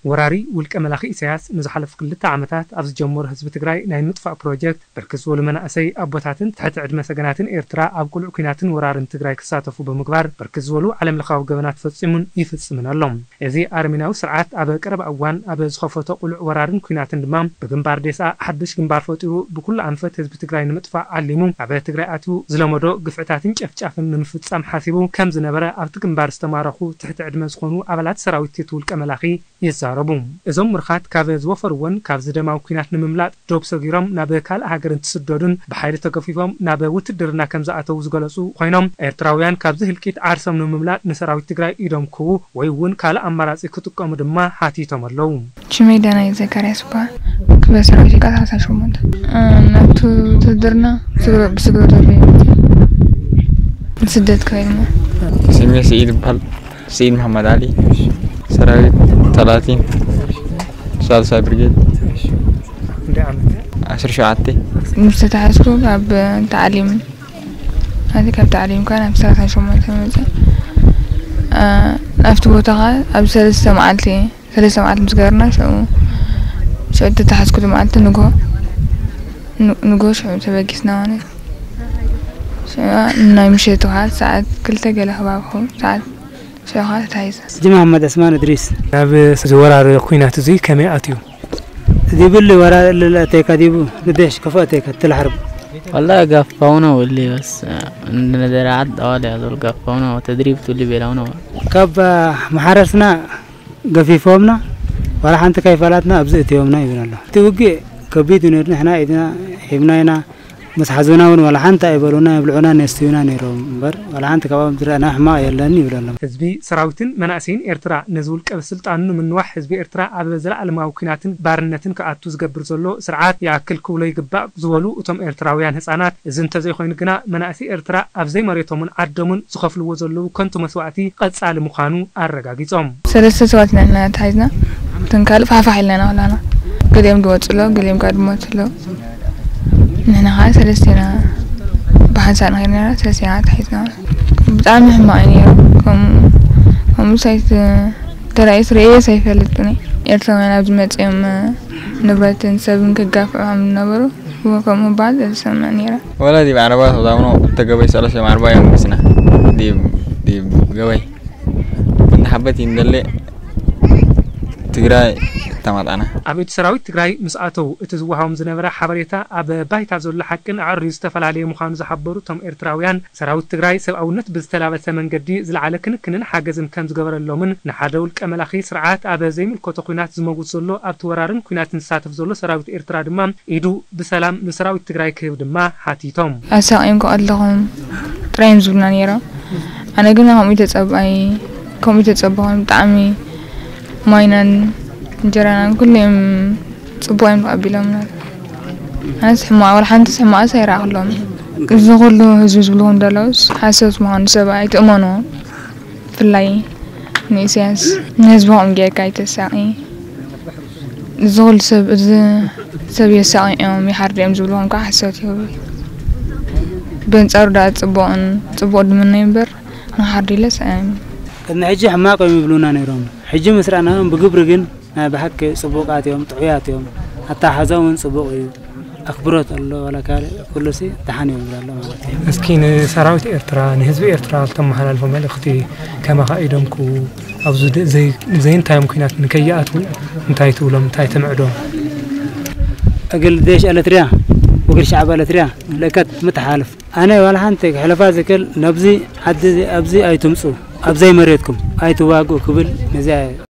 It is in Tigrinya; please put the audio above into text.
ወራሪ ውልቀ መላኺ ኢሳያስ ንዝሓለፉ ክልተ ዓመታት ኣብ ዝጀመሮ ህዝቢ ትግራይ ናይ ምጥፋእ ፕሮጀክት፣ ብርክት ዝበሉ መናእሰይ ኣቦታትን ትሕቲ ዕድመ ሰገናትን ኤርትራ ኣብ ቅሉዕ ኲናትን ወራርን ትግራይ ክሳተፉ ብምግባር፣ ብርክት ዝበሉ ዓለም ለኻዊ ገበናት ፈጺሙን ይፍጽምን ኣሎ። እዚ ኣረሜናዊ ስርዓት ኣብ ቀረባ እዋን ኣብ ዝኸፈቶ ቅሉዕ ወራርን ኲናትን ድማ፣ ብግንባር ዴስኣ ሓድሽ ግንባር ፈጢሩ፣ ብኩሉ ኣንፈት ህዝቢ ትግራይ ንምጥፋእ ዓሊሙ ኣብ ትግራይ ኣትዩ ዝለመዶ ግፍዕታትን ጨፍጫፍን ንምፍጻም ሓሲቡ ከም ዝነበረ ኣብቲ ግንባር ዝተማረኹ ትሕቲ ዕድመ ዝኾኑ ኣባላት ሰራዊት እቲ ውልቀ መላኺ ይዛረቡ። እዞም ምሩኻት ካብ ዝወፈርዎን ካብዚ ደማዊ ኲናት ንምምላጥ ዶብ ሰጊሮም ናብ ካልእ ሃገር እንትስደዱን ብሓይሊ ተገፊፎም ናብ ውትድርና ከም ዝኣተዉ ዝገለጹ ኮይኖም፣ ኤርትራውያን ካብዚ ህልቂት ዓርሶም ንምምላጥ ንሰራዊት ትግራይ ኢዶም ክህቡ ወይ እውን ካልእ ኣማራጺ ክጥቀሙ ድማ ሓቲቶም ኣለዉ። ሽመይ ዳናይ ዘካርያስ ይበሃል። ክፍለ ሰራዊት ኢቃ ሰላሳ ሸሞንተ። እ፣ ናብቲ ውትድርና ብስግረ-፣ ብስግረ ዘሎ እዩ። ንስደት ከይድሞ። ስሜ ስዒድ ይበሃል። ስዒድ መሓመድ ዓሊ፣ ሰራዊት ተላቲን፣ ሳልሳይ ብርጌድ። ክንደይ ዓመት? ዓሰርተ ሸውዓተ። ምስ ተታሕዝኩ ካብ ተዓሊም፣ ማለት ካብ ተዓሊም ከኣ ናብ ሰላሳ ሸሞንተ መጽእ። እ፣ ኣብቲ ቦታ ከኣ ኣብ ሰለስተ መዓልቲ፣ ሰለስተ መዓልቲ ምስ ገበርና፣ ሽዑ፣ ሽዑ ተታሕዝኩ መዓልቲ ንግሆ፣ ን-፣ ንግሆ ሽዑ ተበጊስና ማለት እዩ። ሽዑ ናይ ምሸት ከኣ ሰዓት ክልተ ገለ ከባቢ ክኸውን፣ ሰዓት ሽዑ ከኣ ተታሒዘ። ስጂ መሓመድ ዕስማን እድሪስ። ናብ እዚ ወራር ኲናት እዚ ከመይ ኣትዩ? ዲብሊ ወራር ለለ ኣተይካ ዲቡ ንደሽ ከፎ ኣተይካ ትልሓርብ። والله قفونا واللي بس، آه، عندنا دراعات دوالي هذول قفونا وتدريب تولي بيلاونا. ካብ መሓረስና ገፊፎምና፣ ዋላ ሓንቲ ከይፈላትና ኣብዚ እትዮምና ይብል ኣሎ። እቲ ውግእ ከቢድ እዩ ነይሩ። ንሕና ኢድና ሂብና ኢና። ምስ ሓዙና እውን ዋላ ሓንቲ ኣይበሉና፣ የብልዑና፣ የስትዩና ነይሮም እምበር፣ ዋላ ሓንቲ ካብኦም ዝረኣና ሕማቕ የለን ይብል ኣሎ። ህዝቢ፣ ሰራዊትን መናእሰይን ኤርትራ ነዚ ውልቀ ስልጣኑ ንምንዋሕ ህዝቢ ኤርትራ ኣብ ዘለኣለማዊ ኲናትን ባርነትን ክኣቱ ዝገብር ዘሎ ስርዓት ይኣክል ክብሎ ይግባእ ዝበሉ እቶም ኤርትራውያን ህጻናት፣ እዚ እንተዘይኮይኑ ግና መናእሰይ ኤርትራ ኣብ ዘይመሬቶምን ዓዶምን ዝኸፍልዎ ዘለዉ ከንቱ መስዋእቲ ቀጻሊ ምዃኑ ኣረጋጊጾም። ሰለስተ ሰባት ኢና ተታሒዝና። እተን ካልእ ፋሕፋሕ ኢልና ኢና ከላና። ገሊኦም ዝወፁ ኣለዉ፣ ገሊኦም ከዓ ዝሞቱ ኣለዉ። ንሕና ከዓ ሰለስተ ኢና ብሓንሳእ ንኸይድ ነይራ፣ ሰለስተ ኢና ተታሒዝና። ብጣዕሚ ሕማቕ እዩ ነይሩ። ከምኡ፣ ከምኡ ሳይት ተራእዩስ ርእየስ ኣይፈልጥን እየ። ኤርትራውያን ኣብዚ መፂኦም ንብረትን ሰብን ክጋፍዑ ከም ዝነበሩ ከምኡ በሃል ዝሰምዕ ነይረ። ولا دي بعربات وضامنو تجاوز ثلاثة مع أربعة يوم بسنا. دي، دي جوي. كنت حبيت يندلي تجراي تماطعنا. ኣብ እቲ ሰራዊት ትግራይ ምስ ኣተዉ እቲ ዝወሃቦም ዝነበረ ሓበሬታ ኣብ ባይታ ዘሎ ሓቅን ኣዕርዩ ዝተፈላለየ ምዃኑ ዝሓበሩ እቶም ኤርትራውያን፣ ሰራዊት ትግራይ ሰብኣውነት ብዝተላበሰ መንገዲ ዝለዓለ ክንክንን ሓገዝን ከም ዝገበረሎምን ንሓደ ውልቀ መላኺ ስርዓት ኣብ ዘይምልከቶ ኲናት ዝመውት ዘሎ ኣብቲ ወራርን ኲናትን ዝሳተፍ ዘሎ ሰራዊት ኤርትራ ድማ ኢዱ ብሰላም ንሰራዊት ትግራይ ክህብ ድማ ሓቲቶም። ኣሳቒዮም ከቐለኹም ጥራይ እዮም ዝብሉና ነይሮም። ኣነ ግን ከምኡ ተጸብኣይ፣ ከምኡ ተጸበኹም ብጣዕሚ ማይናን እንጀራናን ኩሉ እዮም ጽቡቕ እዮም ተቐቢሎምና። ኣነስ ሕማቕ፣ ወላ ሓንቲስ ሕማቕስ ኣይረኣኹሎም። እዚ ኩሉ ህዝቢ ዝብልኹም ዘለውስ ሓሶት ምዃኑ ሰብ ኣይትእመንዎ። ብፍላይ ንኢሳያስ፣ ንህዝቢ ከምኡ ጌርካ ኣይተሳቒ። እዚ ኩሉ ሰብ፣ እዚ ሰብ የሳቕዮም፣ ይሓርድዮም ዝብልዎም ከዓ ሓሶት እዩ። በንጻሩ ደኣ ጽቡቕን፣ ጽቡቕ ድምነዩ እምበር፣ ንኽሓርዱ ኢለስ ኣየምን። ቅድሚ ሕጂ ሕማቕ እዮም ይብሉና ነይሮም። ሕጂ ምስ ረኣናዮም ብግብሪ ግን ናይ ብሓቂ ጽቡቓት እዮም፣ ጥዑያት እዮም። ኣተሓሕዛኦም እውን ጽቡቕ እዩ። ኣኽብሮት ኣሎ፣ ዋላ ካልእ ኩሉሲ ደሓን እዮም ይብሉ ኣሎ ማለት እዩ። እስኪ ንሰራዊት ኤርትራ፣ ንህዝቢ ኤርትራ እተመሓላልፎ መልእኽቲ ከማኻ ኢዶም ክው-፣ ኣብዚ ደ-፣ ዘይ-፣ ዘይንታዮም ኲናት ንከይኣትዉ እንታይ ትብሎም፣ እንታይ ተምዕዶም? እግል ዴሽ ኤለትርያ፣ ወግል ሸዓብ ኤለትርያ፣ ለከት ምትሓልፍ። ኣነ ዋላ ሓንቲ ክሕለፋ ዝክል፣ ነብዚ ዓዲ እዚ፣ ኣብዚ ኣይትምጹ፣ ኣብ ዘይመሬትኩም ኣይትዋግኡ ክብል ነዚኣ